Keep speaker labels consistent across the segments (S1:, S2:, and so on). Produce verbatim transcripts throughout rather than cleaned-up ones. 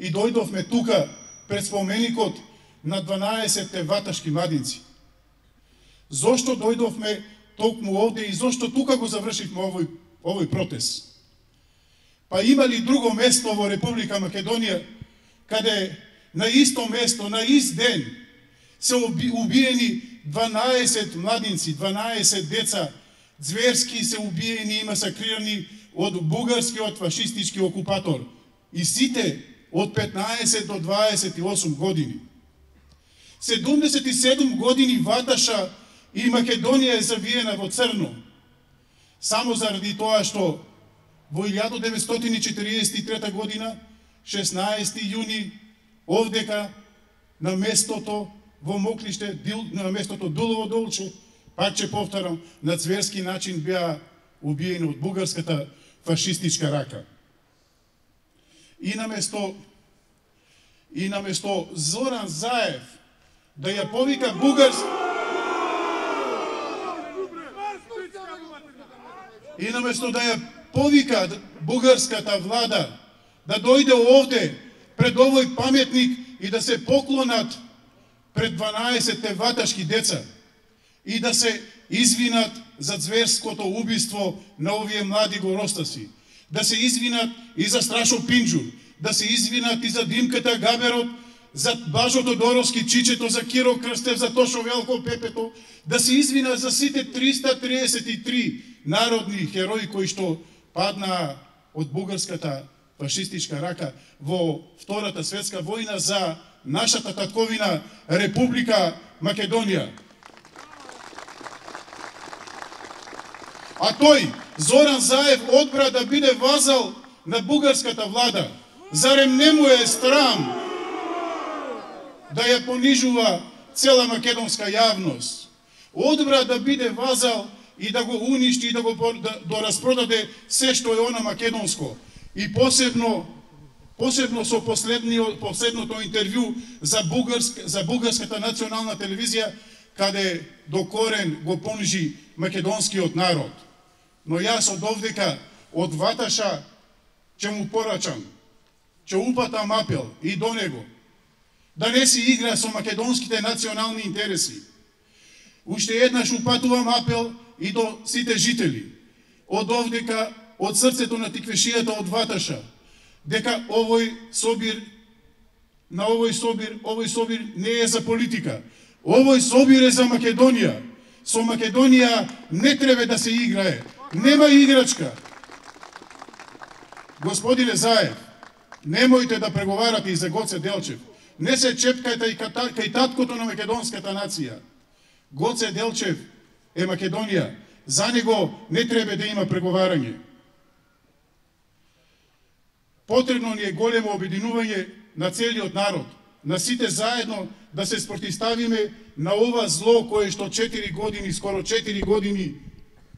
S1: и дојдовме тука пред споменикот на дванаесетте ваташки младинци. Зошто дојдовме токму овде и зошто тука го завршивме овој, овој протест? Па има ли друго место во Република Македонија каде на исто место, на ист ден се убиени дванаесет младинци, дванаесет деца, зверски се убиени и масакрирани од бугарскиот фашистички окупатор, и сите од петнаесет до дваесет и осум години. седумдесет и седум години Ваташа и Македонија е завиена во црно, само заради тоа што во илјада деветстотини четиридесет и трета година, шеснаесети јуни, овдека на местото во Моклиште, на местото Дулово Долче, пак ќе повторам, на зверски начин беа убиени од бугарската фашистичка рака. И наместо и наместо Зоран Заев да ја повика бугарска и наместо да ја повика бугарската влада да дојде овде пред овој паметник и да се поклонат пред дванаесетте ваташки деца и да се извинат за зверското убиство на овие млади горостаси, да се извинат и за Страшо Пинџур, да се извинат и за Димката Габерот, за Бажо Тодоровски Чичето, за Киро Крстев, за Тошо Велко Пепето, да се извинат за сите триста триесет и три народни херои кои што паднаа од бугарската фашистичка рака во Втората светска војна за нашата татковина Република Македонија. А тој, Зоран Заев, одбра да биде вазал на бугарската влада. Зарем не му е страм да ја понижува цела македонска јавност? Одбра да биде вазал и да го уништи и да го да, да распродаде се што е она македонско. И посебно посебно со последниот последното интервју за бугарска за бугарската национална телевизија, каде до корен го понижи македонскиот народ. Но јас од овдека, од Ваташа, ќе му порачам, ќе упатам апел и до него, да не си игра со македонските национални интереси. Уште еднаш упатувам апел и до сите жители, од овдека, од срцето на тиквешијата од Ваташа, дека овој собир, на овој собир, овој собир не е за политика. Овој собир е за Македонија. Со Македонија не треба да се играе. Нема играчка. Господине Заев, немојте да преговарате и за Гоце Делчев. Не се чепкајте и кај таткото на македонската нација. Гоце Делчев е Македонија. За него не треба да има преговарање. Потребно ни е големо обединување на целиот народ, на сите заедно да се спротивставиме на ова зло кое што четири години, скоро четири години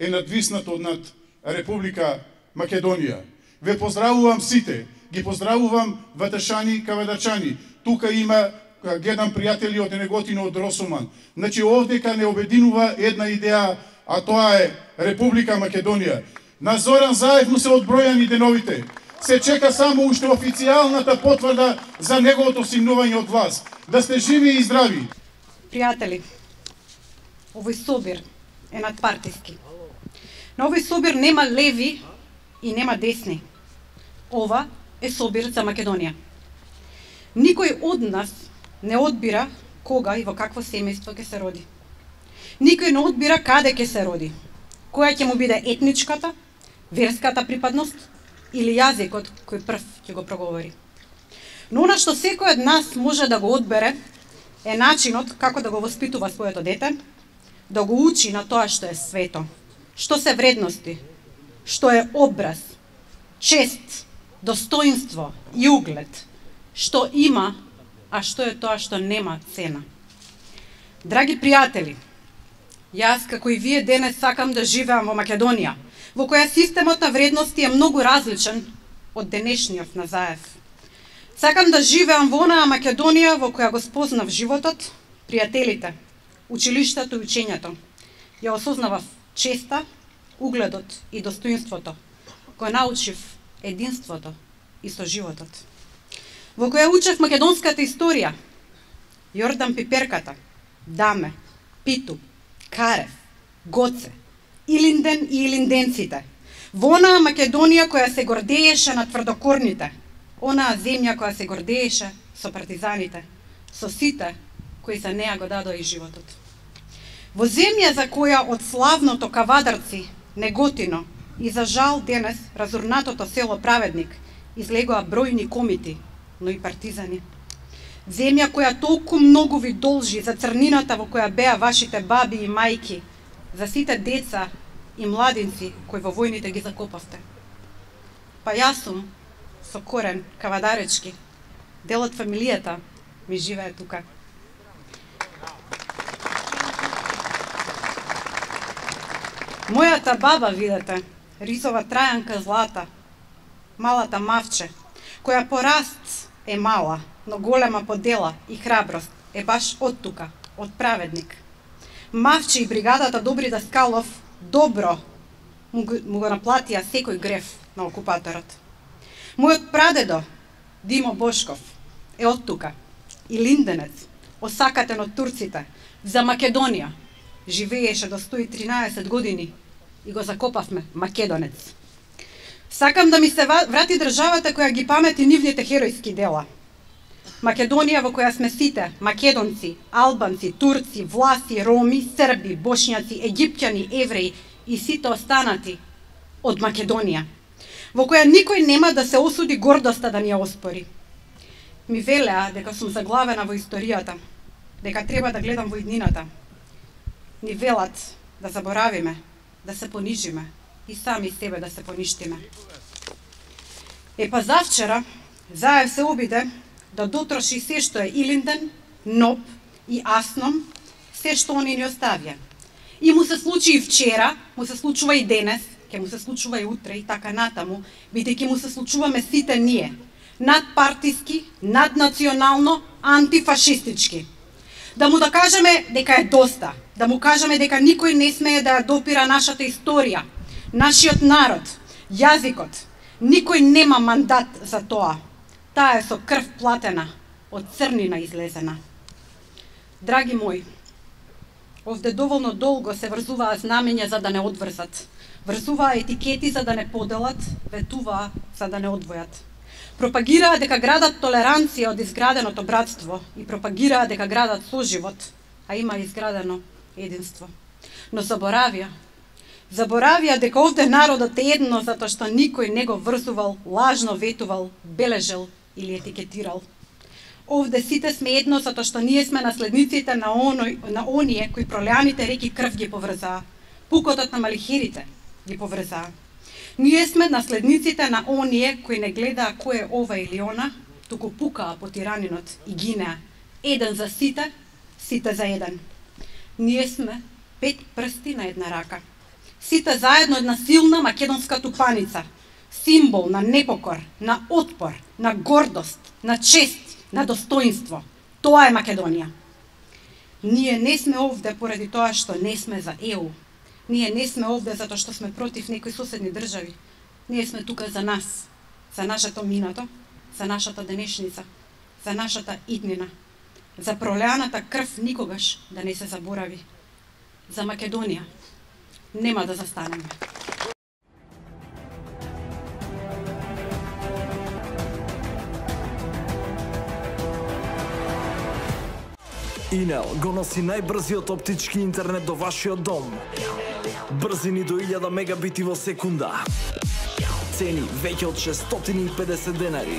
S1: е надвиснато над Република Македонија. Ве поздравувам сите, ги поздравувам ваташани, кавадачани. Тука има, гледам пријатели од Неготино, од Росуман. Значи овдека не обединува една идеја, а тоа е Република Македонија. На Зоран Заев му се одбројани деновите. Се чека само уште официјалната потврда за неговото симнување од власт. Да сте живи и здрави.
S2: Пријатели, овој собир е надпартиски. На овој собир нема леви и нема десни. Ова е собир за Македонија. Никој од нас не одбира кога и во какво семејство ќе се роди. Никој не одбира каде ќе се роди. Која ќе му биде етничката, верската припадност или јазикот кој прв ќе го проговори. Но она што секој од нас може да го одбере е начинот како да го воспитува своето дете, да го учи на тоа што е свето, што се вредности, што е образ, чест, достоинство и углед, што има, а што е тоа што нема цена. Драги пријатели, јас како и вие денес сакам да живеам во Македонија, во која системот на вредности е многу различен од денешниот на Заев. Сакам да живеам во онаа Македонија во која го спознав животот, пријателите, училиштето и учењето. Ја осознавав честа, угледот и достоинството, кој научив единството и со животот. во која учев македонската историја. Јордан Пиперката, Даме, Питу, Карев, Гоце, Илинден и илинденците. Во онаа Македонија која се гордееше на тврдокорните, онаа земја која се гордееше со партизаните, со сите кои за неа го дадоа и животот. Во земја за која од славното Кавадарци, Неготино и за жал денес разурнатото село Праведник излегоа бројни комити, но и партизани. Земја која толку многу ви должи за црнината во која беа вашите баби и мајки, за сите деца и младинци кои во војните ги закопавте. Па јас сум со корен кавадаречки, дел од фамилијата ми живее тука. Мојата баба, видете, рисова Трајанка Злата, малата мавче, која по раст е мала, но голема по дела и храброст, е баш од тука, од Праведник. Мавче и бригадата Добри Даскалов добро му го, му го наплатија секој греф на окупаторот. Мојот прадедо, Димо Бошков, е од тука, и линденец, осакатен од турците, за Македонија, живееше до сто и тринаесет години и го закопавме македонец. Сакам да ми се врати државата која ги памети нивните херојски дела. Македонија во која сме сите, македонци, албанци, турци, власи, роми, срби, бошњаци, египтјани, евреи и сите останати од Македонија, во која никој нема да се осуди гордоста да ни ја оспори. Ми велеа дека сум заглавена во историјата, дека треба да гледам во иднината. Ни велат да заборавиме, да се понижиме и сами себе да се поништиме. Е па завчера Заев се обиде да дотроши се што е Илинден, Ноб и Асном, се што они ни оставија. И му се случи и вчера, му се случува и денес, ќе му се случува и утре и така натаму, бидејќи му се случуваме сите ние, надпартиски, наднационално, антифашистички. Да му да кажеме дека е доста, да му кажеме дека никој не смее да ја допира нашата историја, нашиот народ, јазикот. Никој нема мандат за тоа. Таа е со крв платена, од црнина излезена. Драги мои, овде доволно долго се врзуваа знамења за да не одврзат. Врзуваа етикети за да не поделат, ветуваа за да не одвојат. Пропагираа дека градат толеранција од изграденото братство и пропагираа дека градат соживот, а има изградено единство. Но заборавија, заборавија дека овде народот е едно затоа што никој не го врзувал, лажно ветувал, бележел или етикетирал. Овде сите сме едно затоа што ние сме наследниците на оној, на оние кои пролеаните реки крв ги поврзаа, пукотот на малихирите ги поврзаа. Ние сме наследниците на оние кои не гледаа кој е ова или она, туку пукаа по тиранинот и гинеа. Еден за сите, сите за еден. Ние сме пет прсти на една рака. Сите заедно една силна македонска тупаница, символ на непокор, на отпор, на гордост, на чест, на достоинство. Тоа е Македонија. Ние не сме овде поради тоа што не сме за Е У. Ние не сме овде затоа што сме против некои соседни држави. Ние сме тука за нас, за нашето минато, за нашата денешница, за нашата иднина, за пролеаната крв никогаш да не се заборави. За Македонија нема да застанеме.
S3: Инел го носи најбрзиот оптички интернет до вашиот дом. Брзини до илјада мегабити во секунда. Цени веќе од шестстотини и педесет денари.